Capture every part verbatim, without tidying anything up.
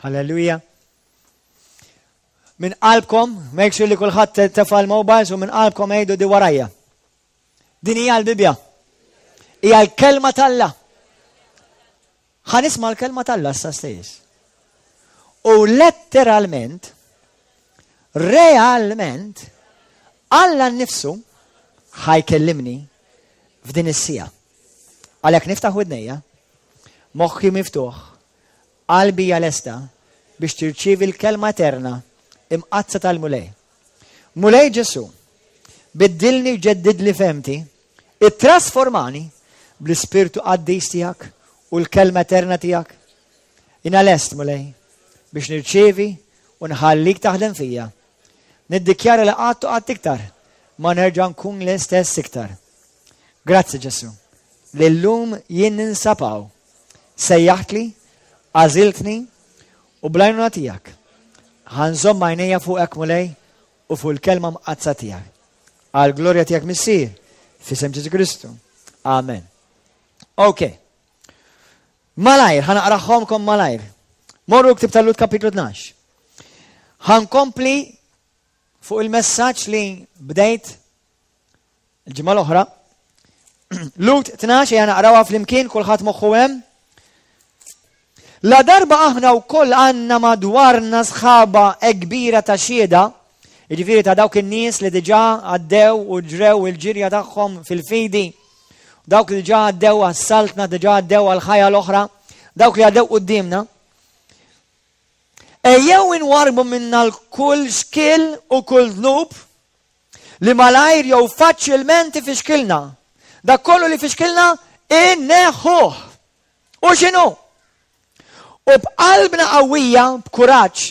Halleluja. Minn qalbkom, make sure li kulħadd tefa' l-mobiles u minn qalbkom għidu di warajja. Din hija l-Bibbja. Hija l-kelma t'Alla. Ħa nisma' l-kelma t'Alla issa stess. U letteralment, realment, Alla nnifsu ħa jkellimni f'din is-siegħa. Għalhekk niftaħ widnejja, moħħi miftuħ, qalbi hija lesta biex tirċievi l-kelma eterna imqaddsa tal-Mulej. Mulej Ġesù, biddilni u ġeddidli fehmti, ittrasformani bl-Ispirtu Qaddis tiegħek u l-kelma eterna tiegħek. Jiena lest, Mulej, biex nirċievi u nħallik taħdem fija. Niddikjara li qatt u qatt iktar ma nerġa' nkun l-istess iktar. Grazzi Ġesù, li llum jien ninsab hawn. Sejjaħtli, għażiltni u bl-għajnuna tiegħek. Ħa nżomm għajnejja fuqek Mulej u fuq il-kelma mqaddsa tiegħek. Għal glorja tiegħek Missier, f'isem Ġesù Kristu. Amen. Ok. Malajr, ħa naqraħomkom malajr. Morru ktib tal-Lut kapitlu tnax. Ħa nkompli fuq il-messaġġ li bdejt il-ġimgħa l-oħra. Lut tnax ejja naqrawha flimkien kulħadd moħħu hemm. La darba aħna wkoll għandna madwarna sħaba kbira ta' xhieda, jiġifieri ta' dawk in-nies li diġà għaddew u ġrew il-ġirja tagħhom fil-fidi, dawk li diġà għaddew għas-saltna, diġà għaddew għall-ħajja l-oħra, dawk li għaddew quddiemna. Ejjew inwarrbu minna l-kull xkiel u kull dnub li malajr jew faċilment ifixkilna. Dak kollu li fixkilna inneħħuh. U x'inhu? U b'qalbna qawwija, b'kuraġġ,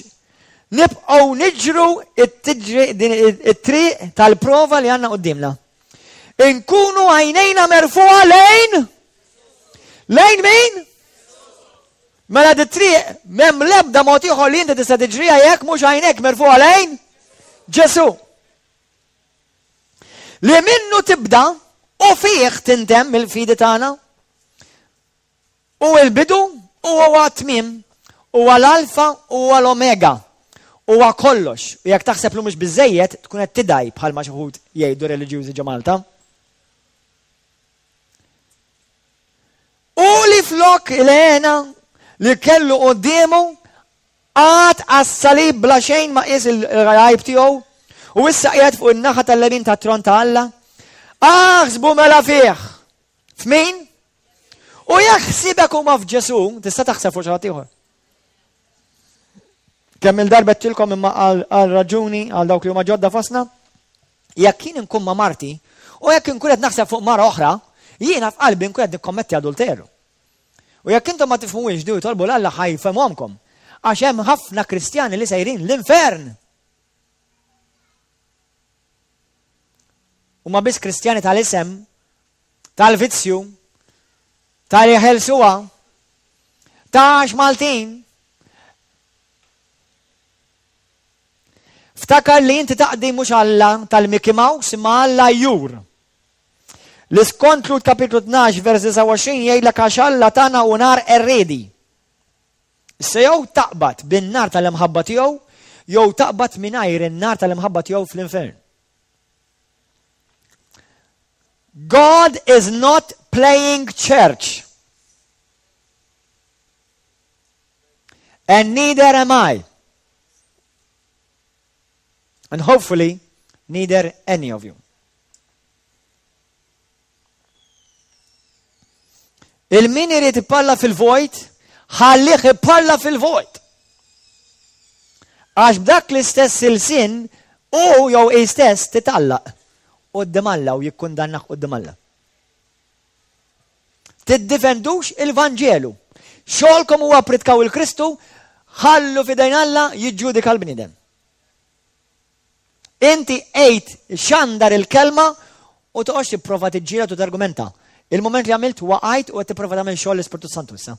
nibqgħu niġru it-triq tal-prova li għandna quddiemna. Inkunu għajnejna merfugħa lejn lejn min? Mela di triq m'hemm l-ebda mod ieħor li inti tista' tiġriha jekk mhux għajnejk merfugħa lejn Ġesù. Li minnu tibda u fih tintemm il-fidi tagħna. U l-bidu u huwa t-tmiem, huwa l-alfa u huwa l-omega. Huwa kollox. U jekk taħseb li mhux biżejjed, tkun qed tidgħi bħalma xi wħud jgħidu reliġjużi ġo Malta. U li flok il-hena li kellu quddiemu qagħad għas-salib bla xejn ma qies il-għajb tiegħu u issa qiegħed fuq in-naħa tal-lemin tat-tron ta' Alla. Aħsbu mela fih. F'min? U jekk ħsiebek huma f'Ġesù, tista' taħseb fuq xi ħadd ieħor. Kemm il-darba għedtilkom imma għal raġuni għal dawk li huma ġodda fostna, jekk jien inkun ma' marti u jekk inkun qed naħseb fuq mara oħra, jiena f'qalbi nkun qed nikkommetti adulteru. U jekk intom ma tifhmuhiex di u tolbu 'l Alla ħa jfhemhomkom. Għax hemm ħafna Kristjani li sejrin l-infern. Huma biss Kristjani tal-isem, tal-vizzju, tal-jeħelsuha, ta' għax Maltin. Ftakar li inti taqdi mhux Alla tal-Mickey Mouse imma Alla jur. Li skont Lut kapitlu tnax vers disgħa u għoxrin jgħidlek għax Alla tagħna hu nar qerriedi. Issa jew taqbad bin-nar tal-imħabba tiegħu jew taqbad mingħajr in-nar tal-imħabba tiegħu fl-infern. God is not playing church. And neither am I. And hopefully, neither any of you. Il-min irid ipalla fil-vojt, ħallih ipalla fil-vojt. Għax b'dak l-istess ilsien hu jew hi stess titgħallaq quddiem Alla u jikkundannah quddiem Alla. Tiddifendux il-Vanġelu. Xogħolkom huwa pritkaw il-Kristu, ħallu f'idejn Alla jiġġudika l-bniedem. Inti għid xandar il-kelma u toqgħodx tipprova tiġġieled u targumenta. Il-mument li għamilt waqajt u qed tipprova tagħmel xogħol l-Ispirtu Santu issa.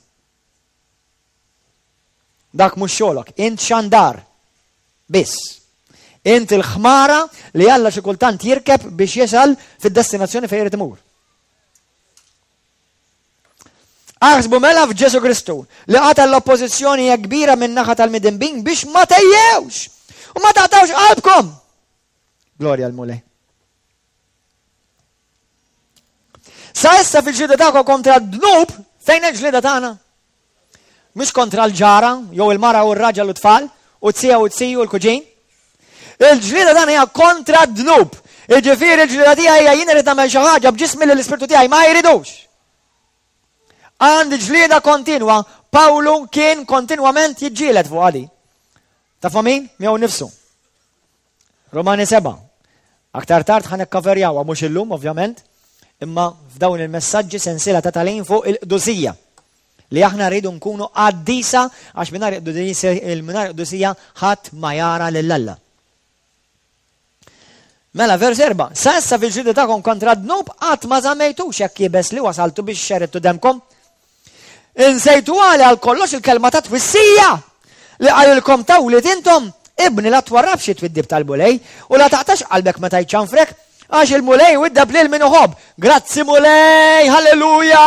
Dak mhux xogħolok, int xandar biss. Int il-ħmara li Alla xi kultant jirkeb biex jasal fid-destinazzjoni fejn irid imur. Aħsbu mela f'Ġesu Kristu li qata l-oppożizzjoni hija kbira min naħa tal-midinbin biex ma tejjewx u ma taqtawx qalbkom. Glorja l-Mulej. Sa issa fil-ġlieda tagħkom kontra d-dnub, fejn il-ġlieda tagħna? Mhux kontra l-ġara, jew il-mara u r-raġel u tfal, u t-sija u t-siju u l-kuġin. Il-ġlieda tagħna hija kontra d-dnub. Jiġifieri l-ġlieda tiegħi hija jien irid nagħmel xi ħaġa b'ġismi li l-ispirtu tiegħi ma jridux. Għandi ġlieda kontinwa, Pawlu kien kontinwament jiġġieled fuq għadi. Tafu min? Miegħu nifsu. Romani seba. Aktar tard ħa nikkaverjawha mhux illum ovvjament, imma f'dawn il-messaġġi sensiela ta' tagħlim fuq il-qdusija. Li aħna rridu nkunu qaddisa għax mingħajr qdusija ħadd ma jara lil Alla. Mela, vers erba', sa issa fil-ġlieda tagħkom kontra d-dnub qatt ma żammejtux hekk iebes li wasaltu biex xeridtu demkom. Insejtu għali għal kollox il-kelma ta' twissija li qalilkom ta' wlied intom, ibni la twarrabx it-twiddib tal-Mulej u la taqtax qalbek meta jċanfrek, għax il-Mulej widdeb lil min iħobb. Grazzi Mulej, halleluja!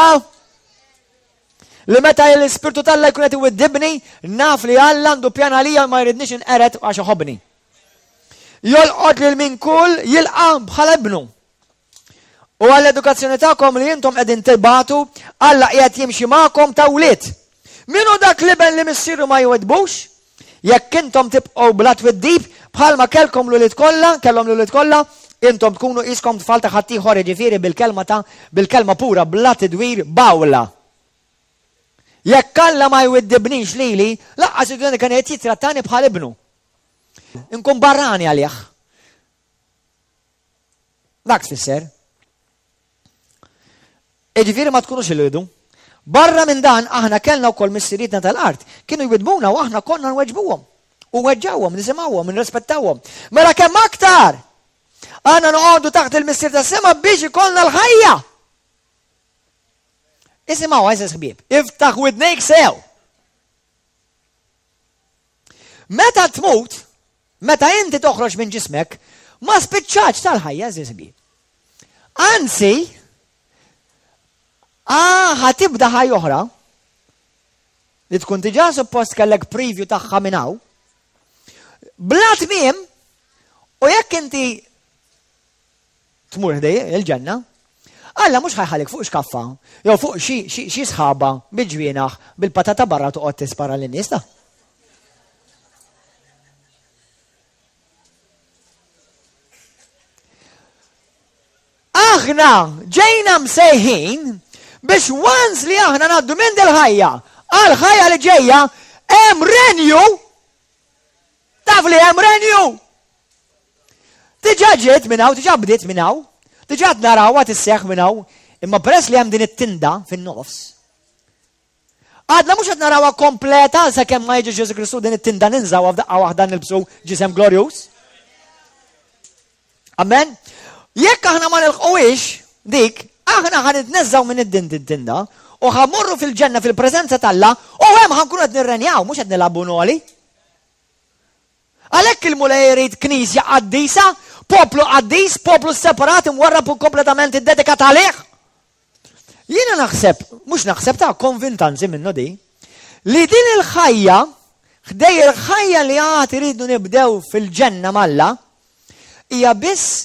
Li meta l-Ispirtu t'Alla jkun qed iwiddibni, naf li Alla għandu pjan għalija u ma jridnix inqered għax iħobbni. Jolqot lil min kull jilqa' bħala ibnu. U għall-edukazzjoni tagħkom li intom qegħdin tibatu, Alla qiegħed jimxi magħkom ta' wlied. Min hu dak l-iben li missieru ma jweddbux? Jekk intom tibqgħu bla twiddib, bħalma kellkom l-ulied kollha, kellhom l-ulied kollha, intom tkunu qiskom tfal ta' ħaddieħor, jiġifieri bil-kelma ta' bil-kelma pura bla tidwir b'għawla. Jekk Alla ma jwiddibnix lili, lanqas id-dunia kien qed jittrattani bħal ibnu. Inkun barrani għalih. Dak tfisser. Jiġifieri ma tkunux il-ridu. Barra minn dan aħna kellna wkoll missirietna tal-art. Kienu jwidbuna u aħna konna nweġbuhom. U weġġawhom, nisimgħuhom, nirrispettawhom. Mela kemm aktar għandna noqogħdu taħt il-Missier tas-sema biex ikollna l-ħajja. Isimgħu għeżież ħbieb, iftaħ widnejk sew. Meta tmut, meta inti toħroġ minn ġismek, ma spiċċax tal-ħajja, għeżież ħbieb. Anzi, ah, ħa tibda ħajja oħra li tkun diġà suppost kellek preview tagħha minn hawn. Bla tmiem, u jekk inti tmur ħdej il-ġenna, Alla mhux ħajħalik fuq xkaffa, jew fuq xi sħaba bil-ġwienaħ bil-patata barra toqgħod tispara lin-nies ta'. Aħna ġejna msejħin biex once li aħna ngħaddu minn dil-ħajja għal ħajja li ġejja hemm renju. Taf li hemm renju. Diġà ġiet minn hawn, diġà bdiet minn hawn, diġà qed narawha tisseħħ minn hawn, imma peress li hemm din it-tinda fin-nofs, għadna mhux qed narawha kompleta sakemm ma jiġi Ġesu Kristu din it-tinda ninżawha f'daqqa waħda nilbsu ġisem glorjuż. Amen. Jekk aħna ma nilħquhiex dik, aħna ħa nitneżżgħu minn id-din tinda u ħa mmorru fil-ġenna fil-preżenza t'Alla u hemm ħa nkunu qed nirrenjaw, mhux qed nilagħbu noli. Għalhekk il-Mulej irid knisja qaddisa, poplu qaddis, poplu separat, imwarrab u kompletament iddedikat għalih. Jiena naħseb, mhux naħseb ta' konvint anzi minnu di, li din il-ħajja, ħdej il-ħajja li għad iridu nibdew fil-ġenna m'Alla, hija biss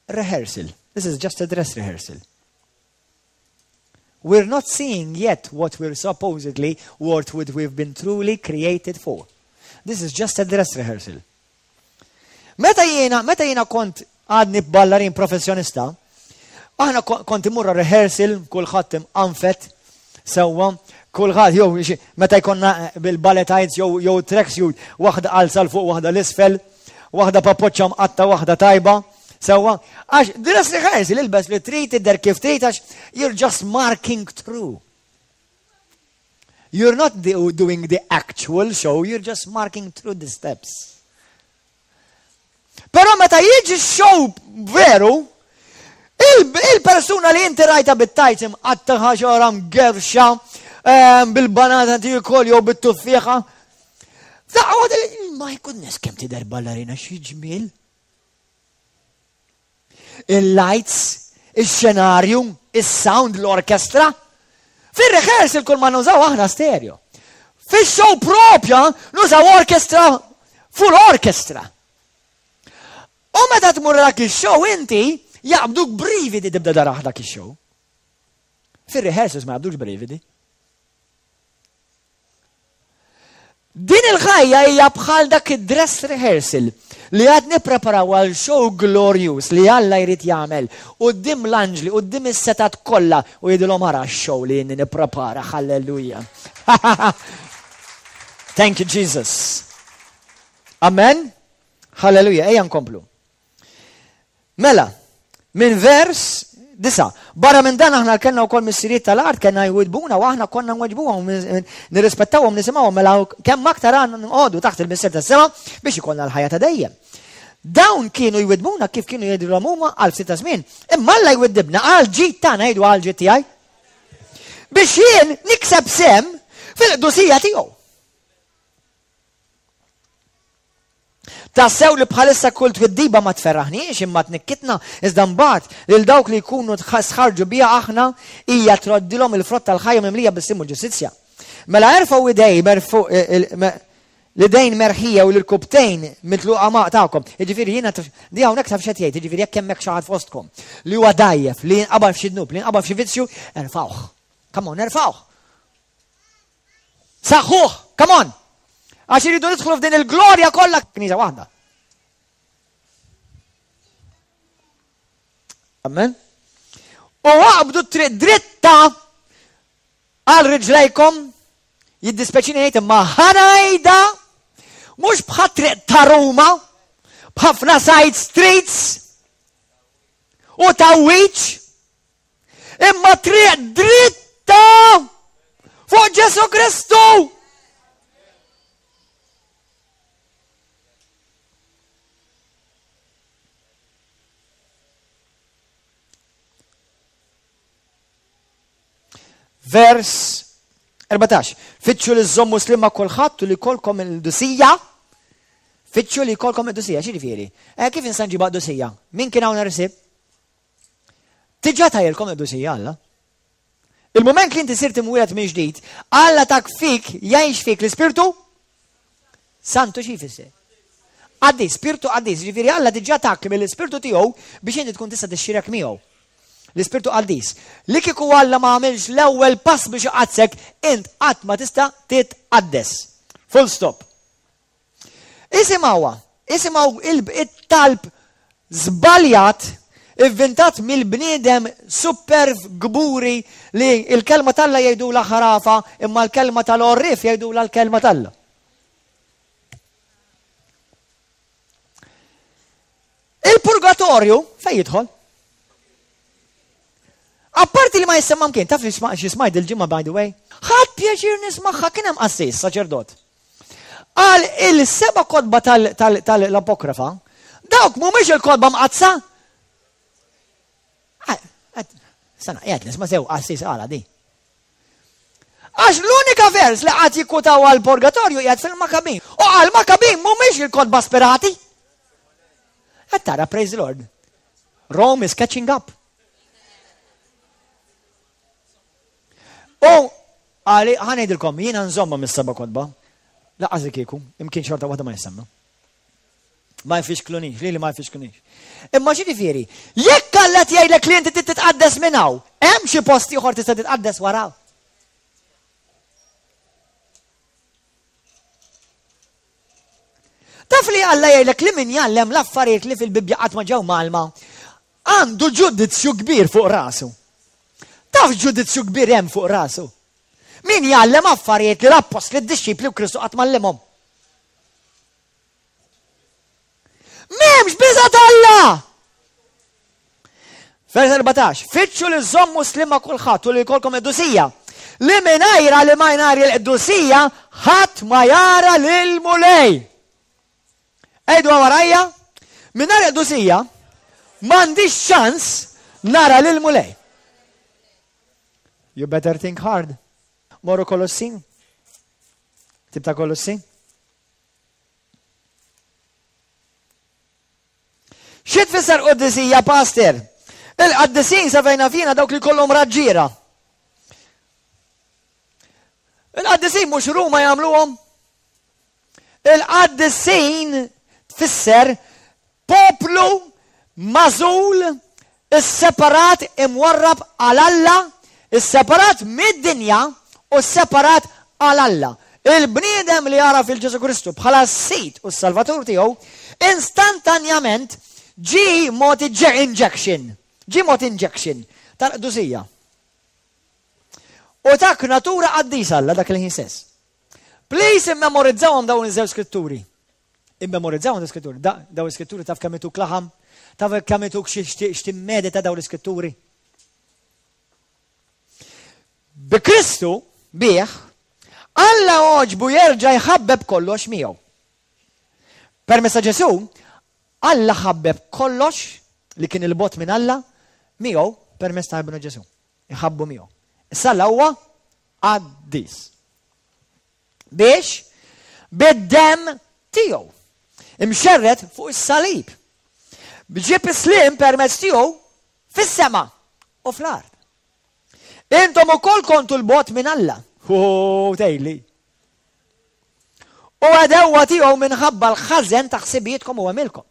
rehearsal. This is just a dress rehearsal. We're not seeing yet what we're supposedly, what we've been truly created for. This is just a dress rehearsal. Meta jiena, meta jiena kont għadni ballarin professjonista, aħna kont imurra rehearsal, kulħadd imqanfet sewwa, kulħadd jew meta jkollna bil-ballet tights jew jew tracksuit, waħda qalza l fuq waħda l-isfel, waħda papoċċa mqatta, waħda tajba. Sewwa, għax dress rehearsal ilbes li trid tidher kif trid għax you're just marking through. You're not doing the actual show, you're just marking through the steps. Però meta jiġi show veru, il-persuna li inti rajta bit-tajt imqatta ħaġa mgerxa ehm, bil-banana tiekol jew bit-tuffieħa. My goodness, kemm tidher ballerina xi ġmiel. Il-lights, il-xenarju, il-sound, l-orkestra. Fir-rehearsal kull ma nużaw aħna stereo. Fix-show propja nużaw orkestra, full orkestra. U meta tmur dak ix-show inti jaqbduk brividi tibda daraħ dak ix-show. Fir-rehearsals ma jaqbdukx brividi. Din il-ħajja hija bħal dak id-dress rehearsal li għad nippreparaw għal show glorious li Alla jrid jagħmel quddiem l-anġli, quddiem is-setat kollha u jgħidilhom ara x-show li inni nipprepara, halleluja. Thank you Jesus. Amen. Halleluja, ejja nkomplu. Mela, minn vers disa. Barra minn dan aħna kellna wkoll missirijiet tal-art kellna jwidbuna u aħna konna nweġbuhom, nirrispettawhom, nisimgħuhom, mela kemm aktar għandna nqogħdu taħt il-Missier tas-sema biex ikollna l-ħajja ta' dejjem. Dawn kienu jwidbuna kif kienu jgħidulhom huma għal ftit ta' żmien, imma Alla jwiddibna għal ġid tagħna, jgħidu għal ġid tiegħi. Biex jien nikseb sem fil-qdusija tiegħu. Tassew li bħalissa kull twiddiba ma tferraħniex imma tnikkitna, iżda mbagħad lil dawk li jkunu sħarġu biha aħna hija troddilhom il-frott tal-ħajja mimlija bis-sim u l-ġustizzja. Mela erfgħu idej l-idejn merħija u l-kubtejn mitluqa ma' tagħkom. Jiġifieri jiena di hawnhekk taf x'qed jgħid, jiġifieri jekk hemmhekk xi ħadd fostkom li huwa dgħajjef, li jinqabal f'xi dnub, li jinqabal f'xi vizzju, erfgħuh. Come on, erfgħuh. Saħħuh, come on. Għax iridu nidħlu f'din il-glorja kollha knisja waħda. Amen. U aqbdu triq dritta għal riġlejkom, jiddispeċini ngħid imma ħanajda mhux bħat triq ta' Ruma, b'ħafna side streets u tawwiċ, imma triq dritta fuq Ġesu Kristu. Vers erbatax. Fittxu li żommu slim ma' kulħadd u li jkollkom il-qdusija. Fittxu li jkollkom il-qdusija, x'jiġifieri? Eh, kif insa nġibha qdusija? Min kien hawn rsib? Diġà tajilkom il-qdusija Alla. Il-moment li inti sirt imwieled minn ġdid, Alla tak fik, jgħix fik l-Ispirtu Santu. Xi jfisser? Qaddis, Spirtu Qaddis, ġifieri Alla diġà tak mill-Ispirtu tiegħu biex inti tkun tista' tixxirek miegħu. L-Ispirtu Qaddis. Li kieku Alla ma għamilx l-ewwel pass biex iqaddsek, int qatt ma tista' titqaddes. Full stop. Isimgħuha, isimgħu il-talb żbaljat ivvintat mill-bniedem superv gburi li l-kelma t'Alla jgħidula ħarafa imma l-kelma tal-għorrief jgħidula l-kelma t'Alla. Il-purgatorju fejn jidħol? Apparti li ma jissemma mkien, taf li xi smajt il-ġimgħa by the way? Ħadd pjaċir nismagħha, kien hemm qassis, saċerdot. Qal il-seba' kotba tal-Apokrafa, dawk mhumiex il-kotba mqaddsa. Sana, qiegħed nisma' sew qassis qala di. Għax l-unika vers li qatt jikkutaw għall-purgatorju qiegħed fil-Makabin. U għal Makabin mhumiex il-kotba sperati. Qed tara, praise the Lord. Rome is catching up. U għali ħanejdilkom, jiena nżomma mis-seba' kotba. Laqqas li kieku, imkien xorta waħda ma jisemma. Ma jfixklunix, li li ma jfixklunix. Imma xi ġifieri, jekk Alla jgħidlek li inti titqaddes minn hawn, hemm xi post ieħor tista' titqaddes wara. Taf li Alla jgħidlek li min jgħallem l-affarijiet li fil-Bibbja qatt ma ġew mgħallma, għandu ġudizzju kbir fuq rasu. Taf ġudizzju kbir hemm fuq rasu. Min jgħallem affarijiet li l-appostli, d-dixxipli u Kristu qatt m'għallimhom. M'hemmx biża' t'Alla! Vers erbatax, fittxu li żommu slim ma' kulħadd u li jkollkom qdusija, li mingħajra li ma jnar il-qdusija ħadd ma jara lil Mulej. Għidu warajja, mingħajr qdusija m'għandix ċans nara lil Mulej. You better think hard. Morru Kolossin. Tib ta' Kolossin. Xi tfisser quddisija, pastor? Il-qaddisin sa fejna fina dawk li kollhom raġġiera. Il-qaddisin mhux Ruma jagħmluhom. Il-qaddisin tfisser poplu magħżul, isseparat, imwarrab għal Alla, isseparat mid-dinja u separat għal Alla. Il-bniedem li jara fil-Ġesu Kristu bħala s-Sid u s-Salvatur tiegħu, instantanjament ġie mogħti injection, ġie mogħti injection tal-qdusija. U tak natura qaddisa Alla dak il-ħin stess. Please immemorizzawhom dawn iż-żewġ skritturi. Immemorizzawhom dawn iskritturi. Dawn iskritturi taf kemm ituk laħam, taf kemm ituk x'timmedita dawn l-iskritturi. Bi Kristu, bih, Alla għoġbu jerġa' jħabbeb kollox miegħu. Permezz ta' Ġesù, Alla ħabbeb kollox li kien il-bogħod minn Alla miegħu permezz ta' Ibnu Ġesù. Iħabbu miegħu. Issa Alla huwa qaddis. Biex bid-demm tiegħu imxerred fuq is-salib. Ġib is-slim permezz tiegħu fis-sema u fl-art. Intom ukoll kontu l-bogħod minn Alla. Hu tgħidli. U għadewwa tiegħu minħabba l-ħażen ta' ħsibijietkom u għemilkom.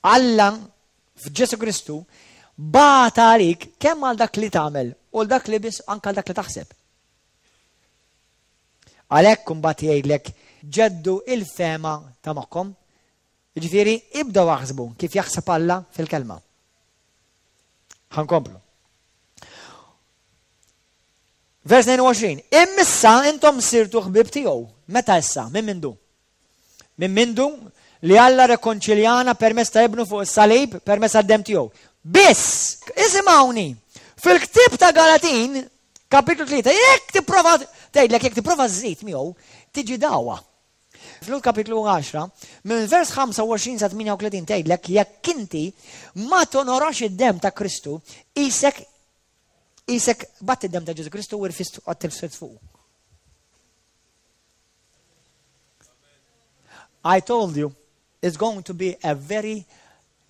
Alla f'Ġesu Kristu bagħat għalik kemm għal dak li tagħmel u dak li biss anke għal dak li taħseb. Għalhekk imbagħad jgħidlek ġeddu il-fehma ta' moħħkom. Jiġifieri ibdew aħsbu kif jaħseb Alla fil-kelma. Ħa nkomplu. Vers tnejn u għoxrin. Immissa intom sirtu ħbieb tiegħu. Meta issa? Minn mindu? Minn mindu li Alla rekonċiljana permezz ta' ibnu fuq is-salib, permezz tad-demm tiegħu. Biss, isimgħuni, fil-ktieb ta' Galatin, kapitlu tlieta, jekk tipprova tgħidlek jekk tipprova żżid miegħu, tiġi dagħwa. Fl kapitlu għaxra, minn vers ħamsa u għoxrin sa tmienja u tletin tgħidlek jekk inti ma tonorax id-demm ta' Kristu, qisek qisek batt id-demm ta' Ġesu Kristu u rfist għat-tilfset fuq. I told you, it's going to be a very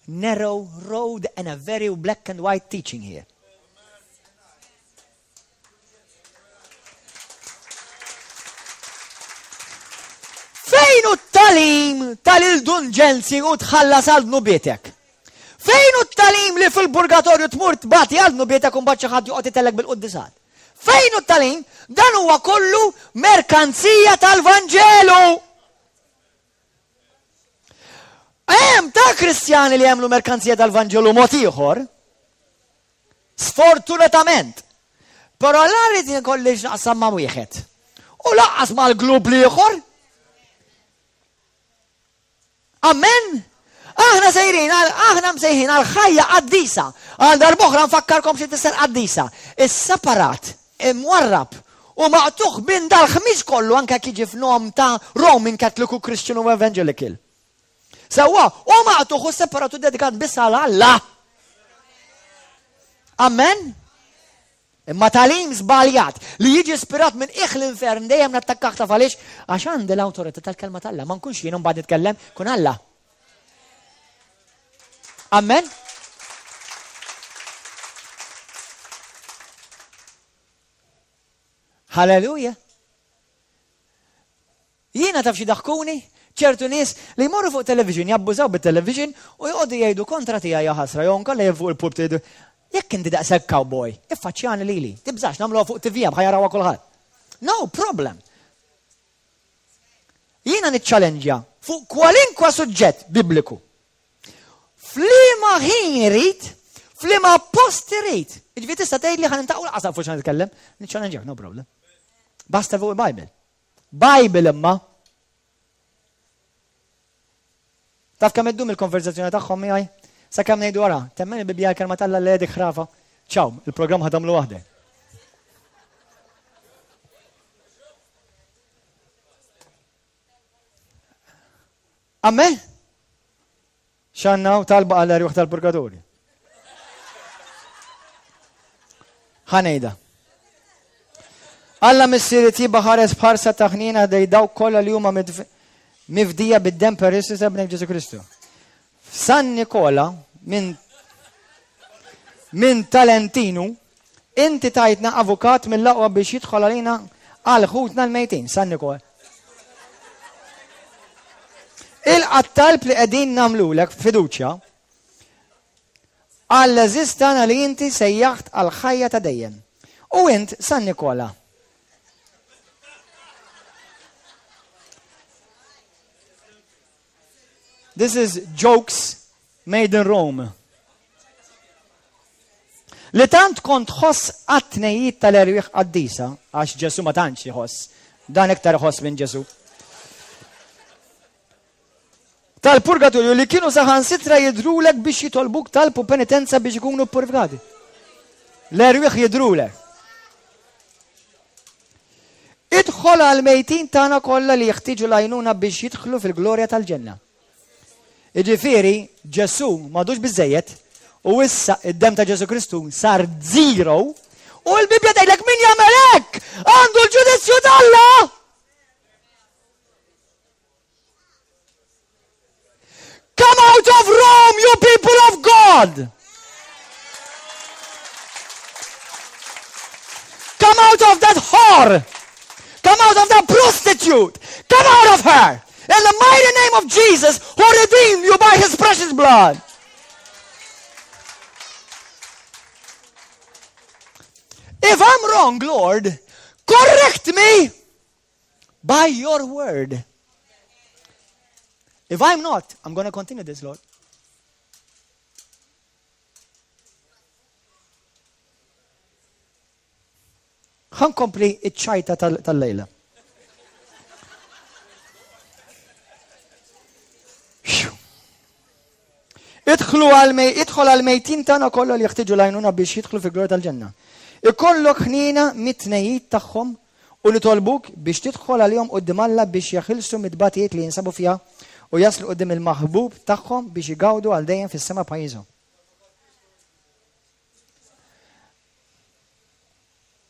narrow road and a very black and white teaching here. Fejn hu t-tagħlim tal-indulġenzi u tħallas għal dnubietek? Fejn hu t-tagħlim li fil-purgatorju tmur tbati għal dnubietek u mbagħad xi ħadd joqgħod itellek bil-quddisat? Fejn hu t-tagħlim? Dan huwa kollu merkanzija tal-Vanġelu. Hemm ta' Kristjani li jagħmlu merkanzija tal-Vanġelu mod ieħor. Sfortunatament. Però la rrid nkolli x'naqsam ma' wieħed. U laqqas mal-glub l-ieħor. Amen. Aħna sejrin, aħna msejħin għal ħajja qaddisa. Għal darb'oħra nfakkarkom xi tfisser qaddisa. Is-separat, imwarrab u maqtugħ minn dal-ħmiġ kollu anke jekk jiġi f'nom ta' Roman Catholic u Christian u Evangelical. Sewwa, u maqtugħ u separat u dedikat biss għal Alla. Amen. Imma tagħlim żbaljat li jiġi ispirat minn qiegħ l-infern dejjem nattakkah taf għaliex? Għax għandi l-awtorità tal-kelma t'Alla. Ma nkunx jien mbagħad nitkellem, kun Alla. Amen. Halleluja. Jiena taf xi daħkuni? Ċertu nies li jmorru fuq television, jabbużaw bit-television u joqogħdu jgħidu kontra tiegħi ja ħasra, jew inkella jien fuq il-pulpit jgħidu, jekk inti daqshekk cowboy, iffaċċjani lili, tibżax nagħmluha fuq T V ħa jarawha kulħadd. No problem. Jiena niċċallenġja fuq kwalinkwa suġġett bibliku. F'liema ħin irid, f'liema post irid. Jiġifieri tista' tgħidli ħa nintaqgħu lanqas naf fuq x'ħa nitkellem, niċċallenġjak, no problem. Basta fuq il-Bible. Bible imma. Taf kemm iddum il-konverzazzjoni tagħhom miegħi? Sakemm ngħidu wara, temmen il-Bibbja l-kelma t'Alla li dik ħrafa. Ciao, il-programm ħa tagħmlu waħdek. Amen? X'għandna u talba għal erwieħ tal-purgatorju. Ħa ngħidha. Alla Missier it-tjieba ħares b'ħarsa ta' ħniena ħdej dawk kollha li huma mifdija bid-demm prezzjuż ta' Ibnek Ġesù Kristu. F'San Nikola minn minn Talentinu Inti tajtna avukat mill-aqwa biex jidħol għalina għal ħutna l-mejtin, San Nikola. Ilqa' t-talb li qegħdin nagħmlulek b'fiduċja għall-għeżież tagħna li inti sejjaħt għall-ħajja ta' dejjem. U int, San Nikola. This is jokes made in Rome. Li tant kont tħoss għat-tnejjiet tal-erwieħ qaddisa, għax Ġesù ma tantx iħoss, dan iktar iħoss minn Ġesù. Tal-purgatorju li kienu saħansitra jidhrulek biex jitolbuk talb u penitenza biex ikunu ppurifikati. L-erwieħ jidhrulek. Idħol għall-mejtin tagħna kollha li jeħtieġu l-għajnuna biex jidħlu fil-glorja tal-ġenna. Jiġifieri, Ġesù m'għadux biżżejjed u issa id-demm ta' Ġesù Kristu sar zero u l-Bibbja tgħidlek min jagħmel hekk għandu l-ġudizzju t'Alla! Come out of Rome, you people of God! Come out of that whore! Come out of that prostitute! Come out of her! In the mighty name of Jesus, who redeemed you by his precious blood. If I'm wrong, Lord, correct me by your word. If I'm not, I'm gonna continue this, Lord. Ħankompli iċ-ċajta tal-lejla. Idħlu idħol għal-mejtin tagħna kollha li jeħtieġu l-għajnuna biex jidħlu fil-glorja tal-ġenna. Ikollok ħniena mit-tnejjiet tagħhom u nitolbuk biex tidħol għalihom quddiem Alla biex jeħilsu mit-tbatijiet li jinsabu fiha u jaslu quddiem il-maħbub tagħhom biex igawdu għal dejjem fis-sema pajjiżhom.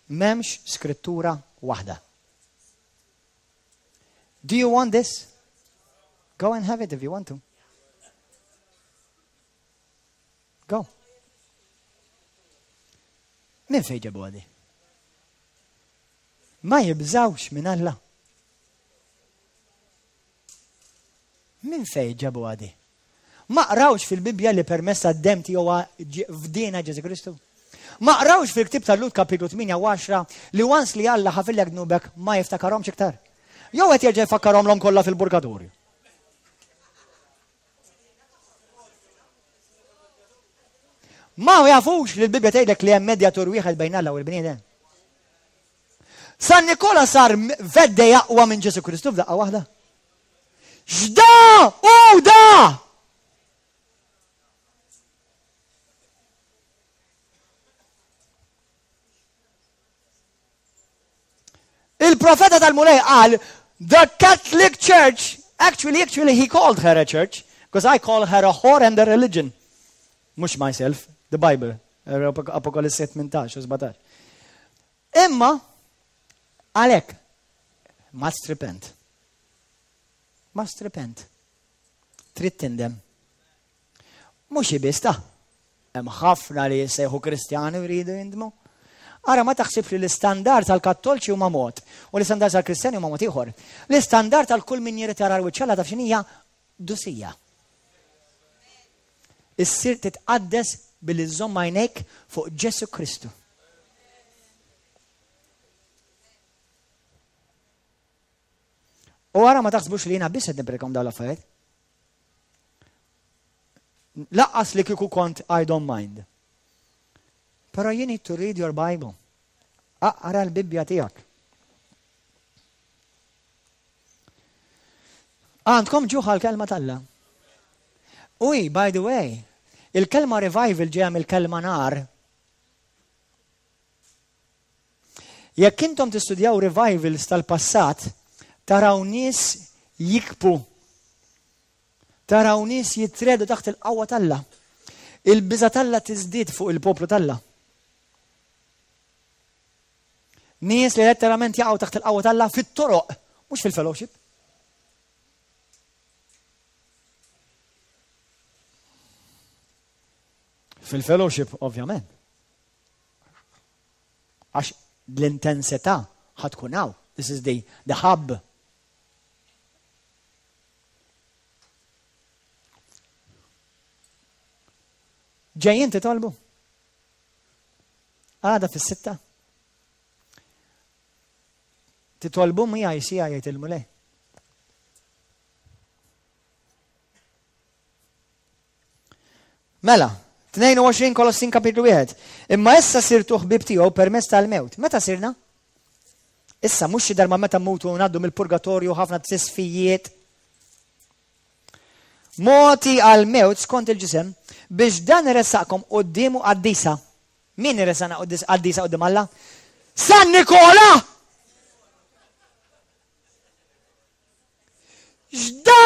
M'hemmx skrittura waħda. Do you want this? Go and have it if you want to. Go. Min fejn ġabu għadi? Ma jibżawx minn Alla. Min fejn ġabu għadi? Ma qrawx fil-Bibbja li permezz tad-demm tiegħu fdiena Ġesù Kristu? Ma qrawx fil-ktieb tal-Lhud kapitlu tmienja u għaxra li once li Alla ħafillek dnubek ma jiftakarhomx iktar? Jew qed jerġa' jfakkarhomlhom kollha fil-purgatorju? Ma jafux li l-Bibbja tgħidlek li hemm medjatur wieħed bejn Alla u l-bniedem. San Nikola sar vedde jaqwa minn Ġesu Kristu f'daqqa waħda. X'da u da! Il-profeta tal-Mulej qal, the Catholic Church, actually, actually he called her a church, because I call her a whore and a religion. Mhux myself, the Bible, Apokalisse tmintax u sbatax. Imma, għalhekk, must repent. Must repent. Trid tindem. Mhux biss ta' hemm ħafna li jissejħu Kristjani u jridu jindmu. Ara ma taħsibx li l-istandard tal-Kattolċi huma mod u l-istandard tal-Kristjani huma mod ieħor. L-istandard tal kull min jrid jara l-wiċċ Alla taf x'inhija dusija. Issir titqaddes billi żżomm għajnejk fuq Ġesu Kristu. U ara ma taħsbux li jiena biss qed nipprekom dawn l-affarijiet. Laqqas li kieku kont I don't mind. Però you need to read your Bible. Aqra l-Bibbja tiegħek. Għandkom ġuħ għall-kelma t'Alla. Uj, by the way, il-kelma revival ġeja mill-kelma nar. Jekk intom tistudjaw revivals tal-passat, taraw nies jikbu. Taraw nies jitredu taħt il-qawwa t'Alla. Il-biża' t'Alla tiżdied fuq il-poplu t'Alla. Nies li letteralment jaqgħu taħt il-qawwa t'Alla fit-toroq, mhux fil-fellowship. Fil-fellowship, ovvjament. Għax l-intensità ħa tkun hawn. This is the, the hub. Ġejjin titolbu? Għada fis-sitta. Titolbu miegħi siegħa jgħid il-Mulej. Mela, tnejn u għoxrin Kolossin kapitlu wieħed. Imma issa sirtu ħbib tiegħu permezz tal-mewt. Meta sirna? Issa mhux xi darba meta mmutu ngħaddu mill-purgatorju, ħafna tisfijiet. Mogħti għal-mewt skont il-ġisem biex dan iressaqkom quddiemu qaddisa. Min iressaqna qaddisa quddiem Alla? San Nikola! X'da?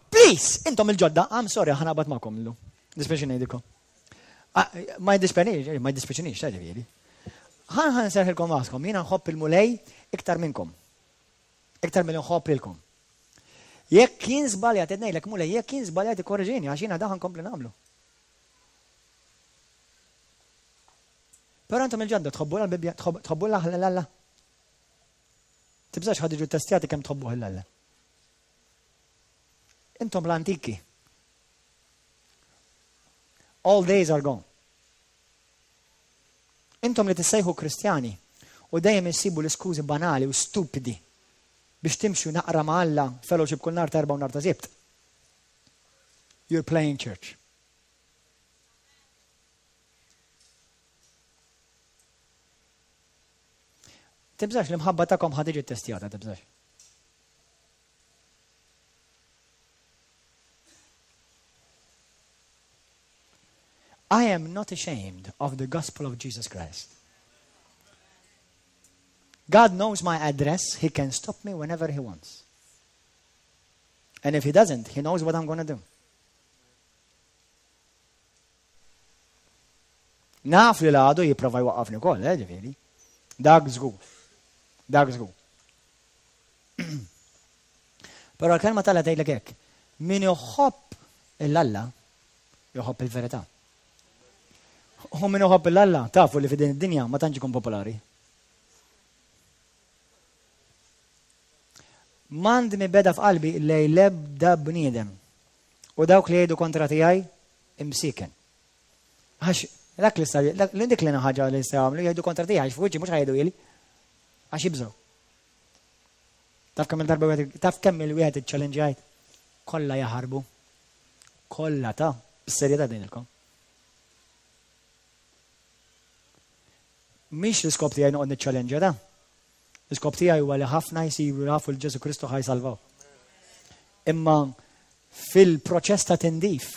Please! Intom il-ġodda, I'm sorry, ħa naqbad magħkom illum. Dispjaċini ngħidilkom. Ah, ma jdispjaċinix, ma jdispjaċinix, ta' ġifieri. Ħa ħa nserrħilkom raskom, jiena nħobb il-Mulej iktar minnkom. Iktar mill nħobb lilkom. Jekk jien żbaljat, qed ngħidlek, Mulej, jekk jien żbaljat ikkorreġini, għax jiena dan nkompli nagħmlu. Però intom il-ġodda tħobbu l-Bibbja, tħobbu l-Alla. Tibżax, ħa tiġu testjati kemm tħobbu l-Alla. Intom l-antiki. All days are gone. Intom li tissejħu Kristjani u dejjem issibu l-iskużi banali u stupidi biex timxu naqra ma' Alla fellowship kull nhar ta' Erbgħa u nhar ta' Sibt. You're playing church. Tibżax, l-imħabba tagħkom ħa tiġi testjata, tibżax. I am not ashamed of the gospel of Jesus Christ. God knows my address. He can stop me whenever he wants. And if he doesn't, he knows what I'm going to do. Naf li l-għadu jipprova jwaqqafni wkoll, eh, ġifieri. Dak żgur. Dak żgur. Però l-kelma t'Alla tgħidlek hekk. Min iħobb 'l Alla, jħobb il-verità. U min iħobb 'l Alla, tafu li f'din id-dinja ma tantx ikun popolari. M'għandi mibegħda f'qalbi lejn l-ebda bniedem. U dawk li jgħidu kontra tiegħi imsiken. Għax dak li sta dik li ħaġa li jistgħu jagħmlu, jgħidu kontra tiegħi, għax f'wiċċi mhux ħa jgħidu ili. Għax jibżgħu. Taf kemm il-darba wieħed, taf kemm il-wieħed iċ-challenge kollha jaħarbu. Kollha ta' bis-serjetà ngħidilkom. Mhix l-iskop tiegħi noqgħod niċċallenġja da. L-iskop tiegħi huwa li ħafna jsiru jafu 'l Ġesu Kristu, ħa jsalvaw. Imma fil-proċess ta' tindif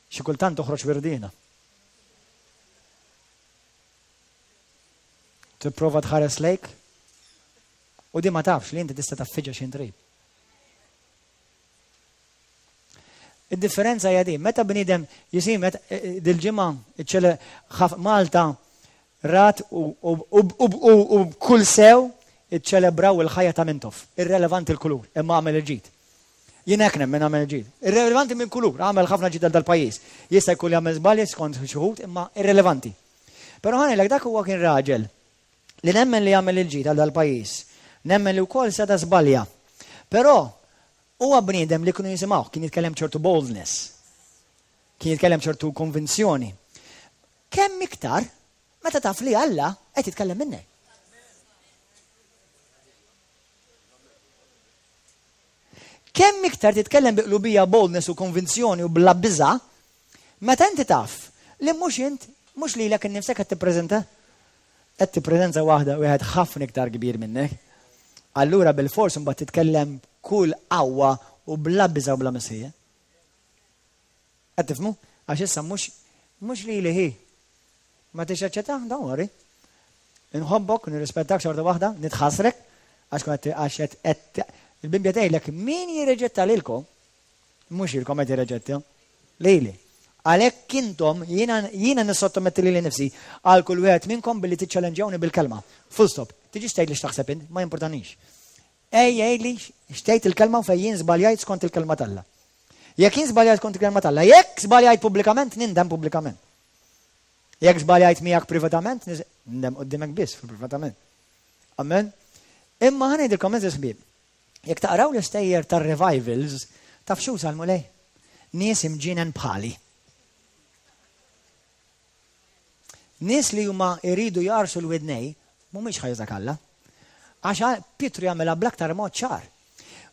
xi kultant toħroġ wirdina. Tipprova tħares lejk u di ma tafx li inti tista' taffiġa xi trid. Id-differenza hija di, meta bniedem jisim eh, eh, dil-ġimgħa Malta rat u kull sew iċċelebraw il-ħajja ta' Mintoff. Irrelevanti l-kulur, imma għamel il-ġid. Jien hekk nemmen, għamel il-ġid. Irrelevanti minn kulur, għamel ħafna ġid dal-pajjiż. Jista' jkun jagħmel żbalji skont xi wħud, imma irrelevanti. Però ħa ngħidlek, dak huwa kien raġel li nemmen li għamel il-ġid għal dal-pajjiż. Nemmen li wkoll seta' żbalja. Però huwa bniedem li kienu jisimgħu, kien jitkellem ċertu boldness. Kien jitkellem ċertu konvinzjoni. Kemm iktar meta taf li Alla qed jitkellem minnek? Kemm iktar titkellem bi qlubija, boldness u konvinzjoni u bla biża, meta inti taf li mhux int, mhux lilek innifsek qed tippreżenta, qed tippreżenza waħda wieħed ħafna iktar kbir minnek. Allura bil-fors mbagħad titkellem kull qawwa u bla biża u bla mistħija. Qed tifhmu? Għax issa mhux mhux lili hi. Ma tixaċċetta, don't worry. Inħobbok, nirrispettak xorta waħda, nitħassrek, għax kont għax qed il-Bibbja tgħidlek min jirreġetta lilkom, mhux ilkom qed jirreġetta, lili. Għalhekk intom jiena jiena nissottometti lili nifsi għal kull wieħed minnkom billi tiċċallenġjawni bil-kelma. Full stop. Tiġi tgħid li x'taħseb int, ma importanix. Ej, għidli x'tgħid il-kelma u fejn jien żbaljajt skont il-kelma t'Alla. Jekk jien żbaljajt skont il-kelma t'Alla, jekk żbaljajt pubblikament, nindem pubblikament. Jekk żbaljajt miegħek privatament, nindem qudiemek biss privatament. Amen. Imma ħa ngħidilkom għeżież ħbieb, jekk taqraw l-istejjer tar-revivals, taf x'uża l-Mulej? Nies imġienen bħali. Nies li huma jridu jarsu l-widnej, mhumiex ħa jużak Alla. Għax Pietru jagħmilha bl-aktar mod ċar.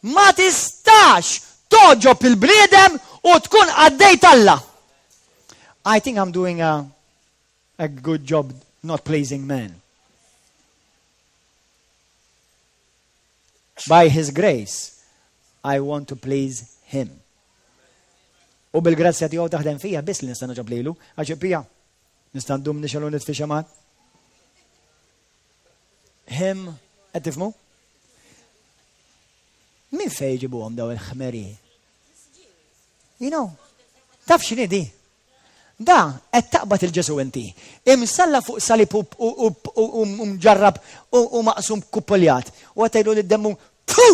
Ma tistax togħġob il-bniedem u tkun qaddej t'Alla. I think I'm doing a, a good job not pleasing men. By his grace, I want to please him. U bil-grazzja tiegħu taħdem fija biss li nista' nogħġob lilu, għax pija nista' ndum nixelu nitfi xemat. Him, qed tifhmu? Min fej ġibuhom daw il-ħmeri? You know, taf x'inhi di? Da, qed taqbad il-Ġesu inti. Imsalla fuq salib u mġarrab u maqsum kuppoljat. U qed tgħidu lid-demmu, tu!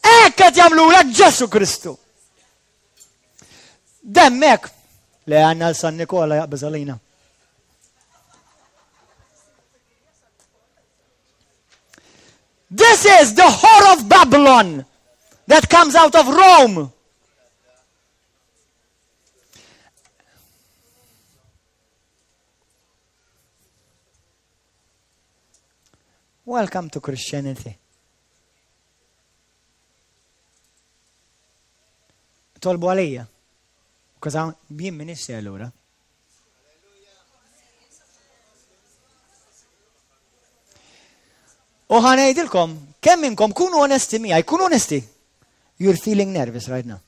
Hekk qed jagħmlulek Ġesu Kristu. Demmek! Le għandna l-San Nikola jaqbeż għalina. This is the whore of Babylon that comes out of Rome. Welcome to Christianity. Tolbu għalija. Because jien ministri allura. U ħa ngħidilkom, kemm minnkom kunu onesti miegħi, kunu onesti. You're feeling nervous right now.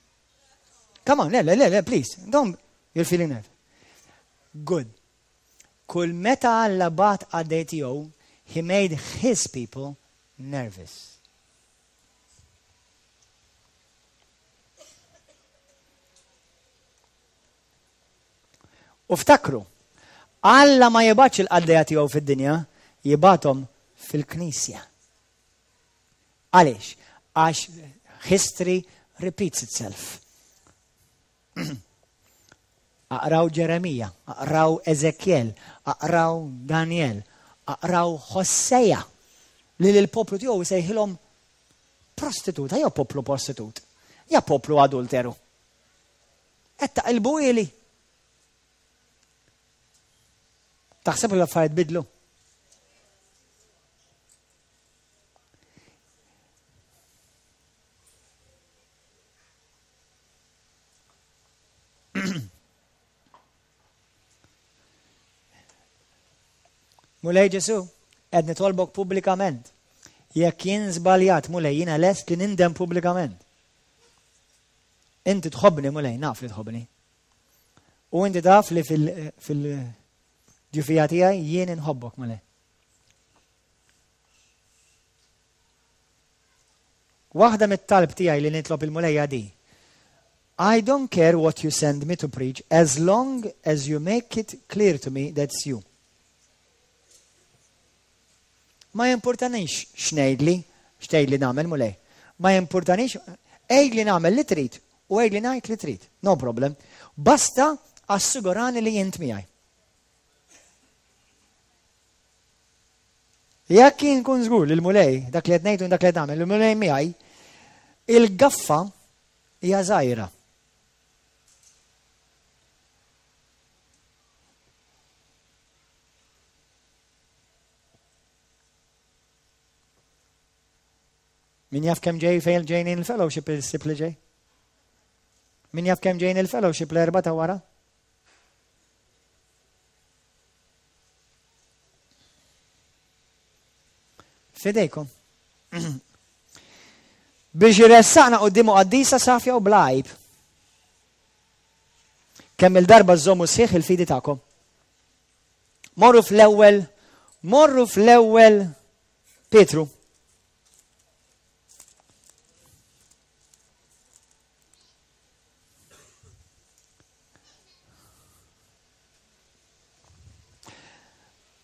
Come on, le, le, le, please. Don't, you're feeling nervous. Good. Kull meta Alla bagħat qaddej tiegħu, he made his people nervous. U ftakru, Alla ma jibgħatx il-qaddejja tiegħu fid-dinja, jibgħathom fil-knisja. Għaliex? Għax history repeats itself. Aqraw Ġeremija, aqraw Ezekiel, aqraw Daniel, aqraw Hosea, li l-poplu tiegħu jsejħilhom prostituta, jew poplu prostitut, ja poplu adulteru. Qed taqilbu ili. Taħseb li l-affarijiet bidlu? Mulej Ġesu, qed nitolbok pubblikament. Jekk jien żbaljat, Mulej, jiena lest li nindem pubblikament. Inti tħobbni, Mulej, naf li tħobbni. U inti taf li fil-ġufija tiegħi jien inħobbok, Mulej. Waħda mit-talb tiegħi li nitlob il-Mulej di. I don't care what you send me to preach as long as you make it clear to me that's you. Ma jimpurtanix x'ngħidli, x'tgħidli nagħmel Mulej. Ma jimpurtanix, għidli nagħmel li trid u għidli ngħid li trid. No problem. Basta assigurani li jint miegħi. Jekk jien nkun żgur li l-Mulej, dak li qed ngħidu dak li qed nagħmel, il-Mulej miegħi, il-gaffa hija żgħira. Min jaf kemm ġej fejn ġejn il-fellowship il-sib li ġej? Min jaf kemm ġejn il-fellowship l-erba ta' wara? Fidejkom. Biex jressaqna quddiemu qaddisa safja u bla għajb. Kemm il-darba żommu sħiħ il-fidi tagħkom. Morru fl-ewwel, morru fl-ewwel Pietru.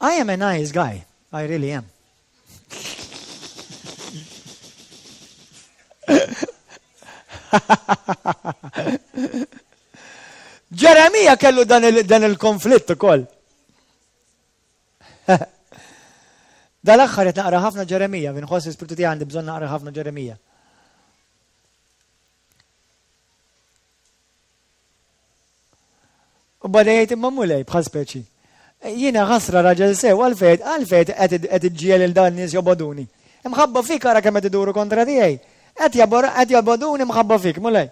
I am a nice guy. I really am. Ġeremija kellu dan il-konflitt ukoll. Dal-aħħar qed naqra ħafna Ġeremija, inħoss l-ispirtu tiegħi għandi bżonn naqra ħafna Ġeremija. U bada jgħid imma Mulej bħal speċi. Jiena ħasra raġel sew għalfejn għalfejn qed iġġiegħel lil dan nies jobogħduni. Imħabba fik ara kemm qed iduru kontra tiegħi. Qed qed jobogħduni mħabba fik, Mulej.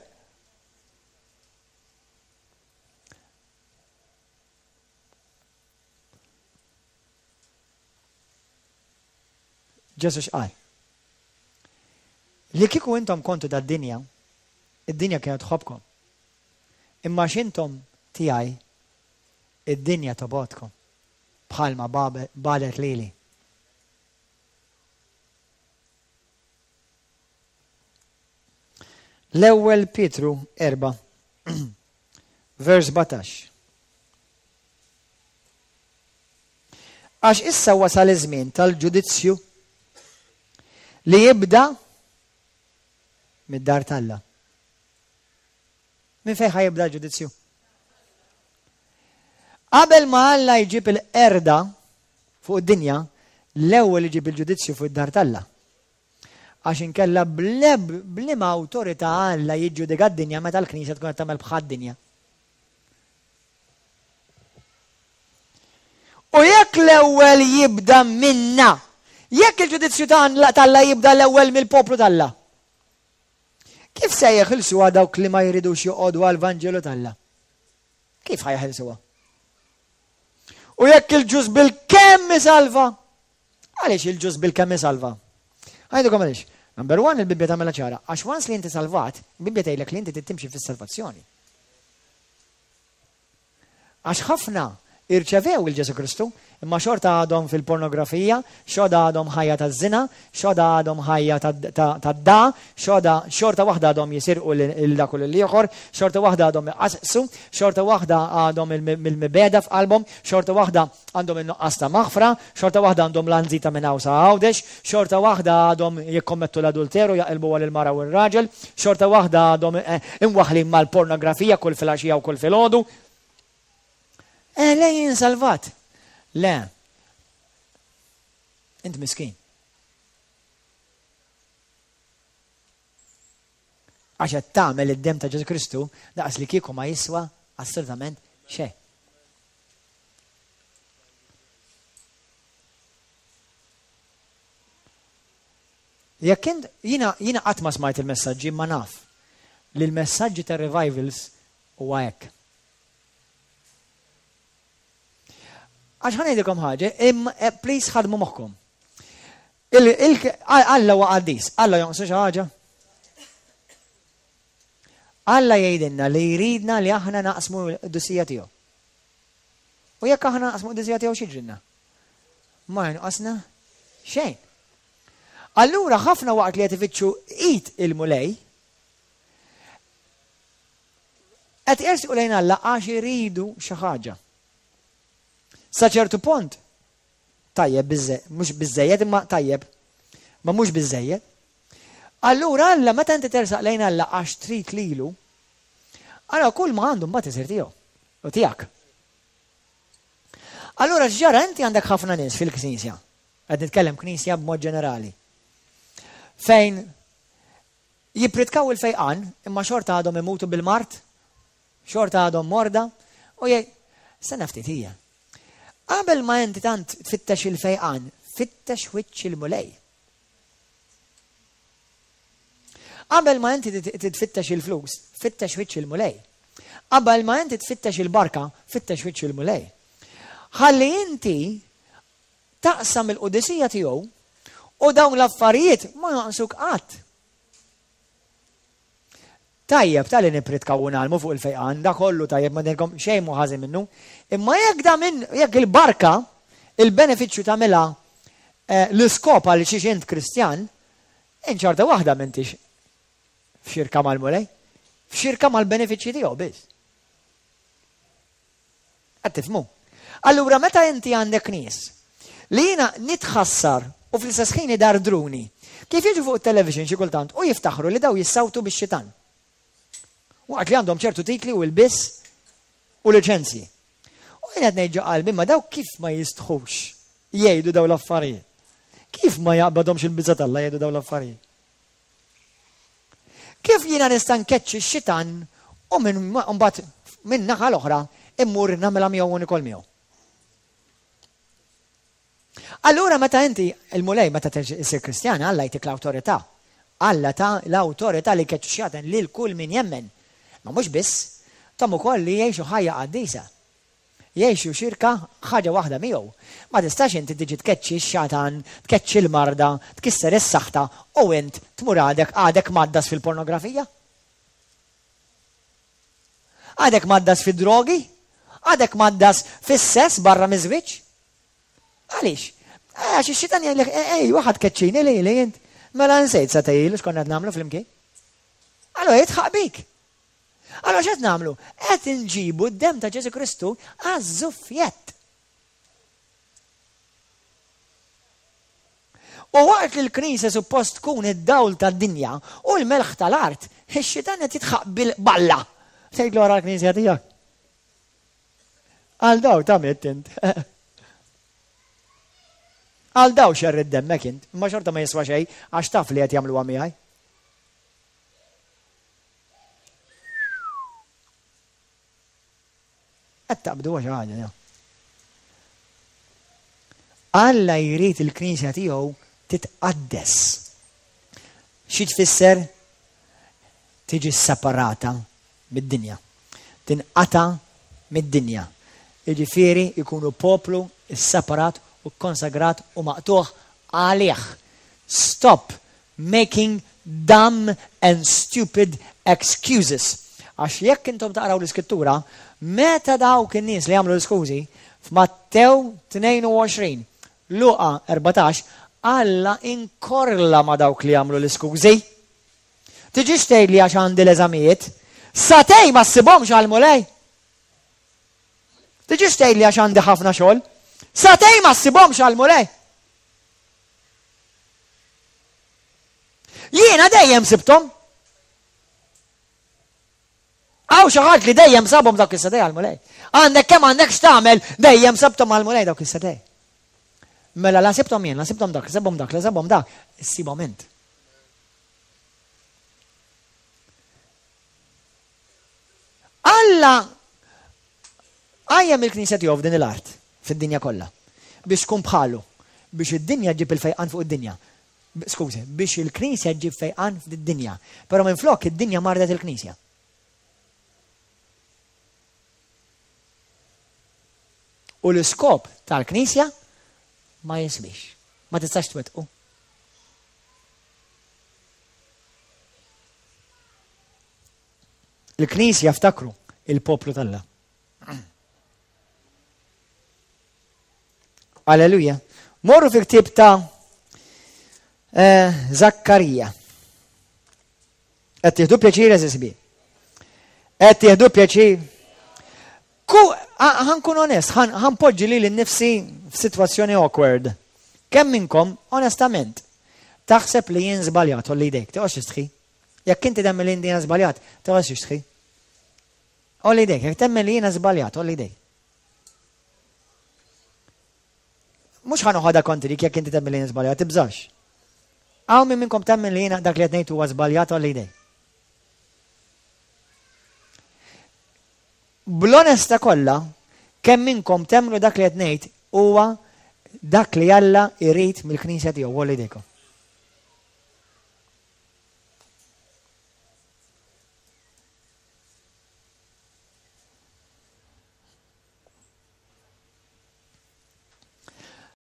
Ġesu x'qal? Li kieku intom kontu tad-dinja, id-dinja kienet tħobbkom. Imma x'intom tiegħi, id-dinja tobgħodkom bħalma bagħdet lili. L-ewwel Pietru erba' vers sbatax. Għax issa wasal iż-żmien tal-ġudizzju li jibda mid-dar t'Alla. Minn fejn ħa jibda l-ġudizzju? Qabel ma Alla jġib il-qerda fuq id-dinja, l-ewwel iġib il-ġudizzju fuq id-dar t'Alla. Għax inkella b'liema awtorità Alla jiġġudika d-dinja meta l-Knisja tkun qed tagħmel bħad-dinja. U jekk l-ewwel jibda minna, jekk il-ġudizzju t'Alla jibda l-ewwel mill-poplu t'Alla, kif se jeħilsuha dawk li ma jridux joqogħdu għall-Vanġelu t'Alla? Kif ħa jeħilsuha? U jekk il-ġust bil-kemm isalva? Għaliex il-ġust bil-kemm isalva? Għajdukom għaliex. Number one, il-Bibbja tagħmilha ċara. Għax once li inti salvat, il-Bibbja tgħidlek li inti trid timxi fis-salvazzjoni. Għax ħafna irċevew il-Ġesu Kristu, imma xorta għadhom fil-pornografija, xorta għadhom ħajja taż-żina, xorta għadhom ħajja tad-da, xorta waħda għadhom jisirqu lil dak u lill-ieħor, xorta waħda għadhom iqasqsu, xorta waħda għadhom il-mibegħda f'qalbhom, xorta waħda għandhom in-nuqqas ta' maħfra, xorta waħda għandhom l-anżita minn hawn sa Għawdex, xorta waħda għadhom jikkommettu l-adulteru, jaqilbu għal il-mara u r-raġel, xorta waħda għadhom imwaħħlin mal-pornografija kull filgħaxija u kull filgħodu. Eh, le, jien salvat. Le. Int miskin. Għax qed tagħmel id-demm ta' Ġesu Kristu daqs li kieku ma jiswa assolutament xejn. Jekk int jiena jiena qatt ma smajt il-messaġġi imma naf li l-messaġġi ta' revivals huwa hekk. Għax ħa ngħidilkom ħaġa, please ħadmu moħħkom. Alla huwa qaddis, Alla jonqsu xi ħaġa? Alla jgħidilna li jridna li aħna naqsmu l-qdusija tiegħu. U jekk aħna naqsmu l-qdusija tiegħu x'jiġrilna? Ma jonqosna xejn. Allura ħafna waqt li qed ifittxu id il-Mulej, qed jersqu lejn Alla għax iridu xi ħaġa. Sa ċertu punt, tajjeb, mhux biżejjed imma tajjeb, ma mhux biżejjed. Allura Alla meta inti tersaq lejn Alla għax trid lilu, allura kull ma għandu mbagħad isir tiegħu u tiegħek. Allura x'ġara inti għandek ħafna nies fil-knisja, qed nitkellem knisja b'mod ġenerali, fejn jippritkaw il-fejqan imma xorta għadhom imutu bil-mard, xorta għadhom morda, u jgħid, stenna ftit hija. Qabel ma inti tant tfittex il-fejqan, fittex wiċċ il-Mulej. Qabel ma inti tfittex il-flus, fittex wiċċ il-Mulej. Qabel ma inti tfittex il-barka, fittex wiċċ il-Mulej. Ħalli inti taqsam il-qudisija tiegħu u dawn l-affarijiet ma jonqsuk qatt. Tajjeb, tal-li nipritkaw u nagħlmu fuq il-fejqan, da kollu tajjeb, ma ngħidilkom xejn mhu ħażin minnu, imma jekk da minn, jekk il-barka, il-benefiċċju tagħmilha l-iskop għal xiex int Kristjan, int xorta waħda m'intix f'xirka mal-Mulej, f'xirka mal-benefiċċji tiegħu biss. Qed tifhmu? Allura meta inti għandek nies li jiena nitħassar u fl-istess ħin idardruni, kif jiġu fuq it-television xi kultant u jiftaħru li daw jissawtu bix-xitan. Waqt li għandhom ċertu titli u l-biss U liċenzji. U jien qed ngħid ġo qalbi, ma daw kif ma jistħux jgħidu daw l-affarijiet? Kif ma jaqbadhomx il-biża' t'Alla jgħidu daw l-affarijiet? Kif jiena nista' nkeċċi x-xitan u minn mbagħad minn naħa l-oħra immur nagħmilha miegħu u nikol miegħu? Allura meta inti il-Mulej meta issir Kristjana Alla jtik l-awtorità. Alla ta l-awtorità li jkeċċu x-xjaten lil kull min jemmen. Ma mhux biss, tahom ukoll li jgħixu ħajja qaddisa. Jgħixu xirka ħaġa waħda miegħu. Ma tistax inti tiġi tkeċċi x-xatan, tkeċċi l-marda, tkisser is-saħta u int tmur għadek għadek mgħaddas fil-pornografija. Għadek mgħaddas fid-drogi? Għadek mgħaddas fis-sess barra miż-żwieġ? Għaliex? Għax ix-xitan jgħidlek, ej, waħad keċċini li li int. Mela nsejt sa tgħilu x'konna qed nagħmlu flimkien. Allora jitħaq bik. Allora x'qed nagħmlu? Qed inġibu d-demm ta' Ġesù Kristu għaż-żuffjett. U waqt li l-Knisja suppost tkun id-dawl tad-dinja u l-melħ tal-art, ix-xitan qed jitħaq bil-balla. Tgħidlu ara l-Knisja tiegħek. Għal daw ta' mitt int. Għal daw xerrid demmek int, imma xorta ma jiswa xejn għax taf li qed jagħmluha miegħi. Qed taqbdu xi ħaġa, ja. Alla jrid il-Knisja tiegħu titqaddes. Xi tfisser? Tiġi separata mid-dinja. Tinqata' mid-dinja. Jiġifieri jkunu poplu sseparat u kkonsagrat u maqtugħ għalih. Stop making dumb and stupid excuses. Għax jekk intom taqraw l-Iskrittura, meta dawk in-nies li għamlu l-iskużi, f'Mattew tnejn u għoxrin, Luqa erbatax, Alla inkorla ma' dawk li għamlu l-iskużi. Tiġix tgħidli għax għandi l-eżamijiet. Sagħtejn ma ssibhomx għall-Mulej. Tiġix tgħidli għax għandi ħafna xogħol. Sagħtejn ma ssibhomx għall-Mulej. Jiena dejjem sibthom. Hawn xi ħadd li dejjem sabhom dawk is-sagħtejn għall-Mulej. Għandek kemm għandek x'tagħmel, dejjem sabthom għall-Mulej dawk is-sagħtejn. Mela la sibthom jien, la sibthom dak, la sabhom dak, la sabhom dak, issibhom int. Alla qajjem il-Knisja tiegħu f'din l-art, fid-dinja kollha, biex tkun bħalu, biex id-dinja ġġib il-fejqan fuq id-dinja. Skużi, biex il-Knisja ġġib fejqan fid-dinja. Però minflok id-dinja mardet il-Knisja. U l-iskop tal-Knisja ma jiswix. Ma tistax twettqu. Il-Knisja ftakru il-poplu t'Alla. Alleluja. Morru fil-ktieb ta' eh, Zakkarija. Qed tieħdu pjaċir eżis bi. Qed tieħdu pjaċir. Ku ħankun onest, ħanpoġġi lili nnifsi f'sitwazzjoni awkward. Kemm minnkom, onestament, taħseb li jien żbaljat, għolli jdejk, toqgħodx tistħi. Jekk inti temmen li jiena żbaljat, toqgħodx tistħi. Għolli jdejk, jekk temmen li jiena żbaljat, għolli jdejk. Mhux ħa noħodha kontrik jekk inti temmen li jiena żbaljat, tibżax. Hawn min minnkom temmen li jiena dak li qed ngħid huwa żbaljat, għolli jdejk. Bl-onesta kollha, kemm minnkom temmnu dak li qed ngħid huwa dak li Alla jrid mill-Knisja tiegħu, għolli jdejkom.